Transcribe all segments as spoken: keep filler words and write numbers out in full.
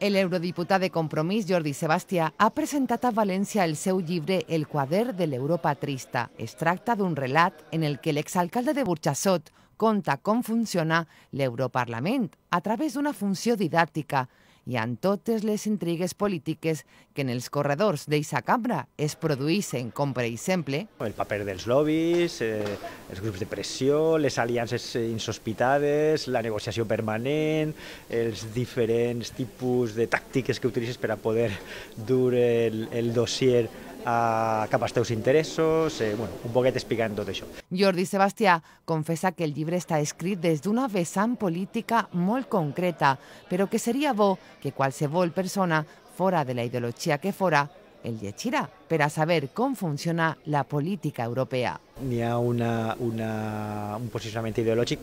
El eurodiputat de Compromís, Jordi Sebastià, ha presentat a València el seu llibre El quadern de l'Europa trista. Es tracta d'un relat en el que l'exalcalde de Burjassot conta com funciona l'Europarlament a través d'una funció didàctica i amb totes les intrigues polítiques que en els corredors d'eixa cambra es produeixen, com per exemple el paper dels lobbies, eh, els grups de pressió, les aliances insospitades, la negociació permanent, els diferents tipus de tàctiques que utilitzes per a poder dur el, el dossier a cap als teus interessos, eh, bueno, un poquet explicant tot això. Jordi Sebastià confessa que el llibre està escrit des d'una vessant política molt concreta, però que seria bo que qualsevol persona, fora de la ideologia que fora, el llegirà per a saber com funciona la política europea. N'hi ha una, una, un posicionament ideològic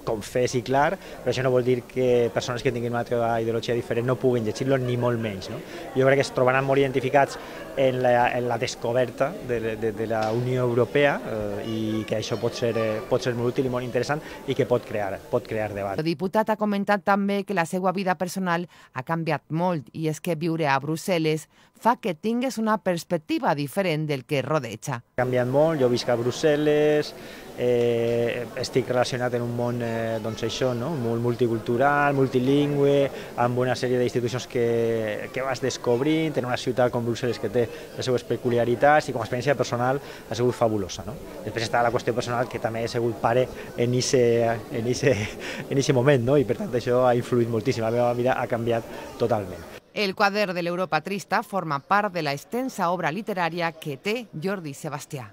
confés i clar, però això no vol dir que persones que tinguin una altra ideologia diferent no puguin llegir-lo, ni molt menys. No? Jo crec que es trobaran molt identificats en la, en la descoberta de, de, de la Unió Europea eh, i que això pot ser, eh, pot ser molt útil i molt interessant i que pot crear, pot crear debat. El diputat ha comentat també que la seva vida personal ha canviat molt i és que viure a Brussel·les fa que tingues una perspectiva diferent del que rodeja. Ha canviat molt, jo visc a Brussel·les, eh, estic relacionat en un món eh, doncs això, no? Molt multicultural, multilingüe, amb una sèrie d'institucions que, que vas descobrint en una ciutat com Brussel·les que té les seues peculiaritats i com a experiència personal ha sigut fabulosa. No? Després està la qüestió personal que també he sigut pare en aquest moment, no? I per tant això ha influït moltíssim, la meva vida ha canviat totalment. El quadern de l'Europa trista forma part de la extensa obra literària que té Jordi Sebastià.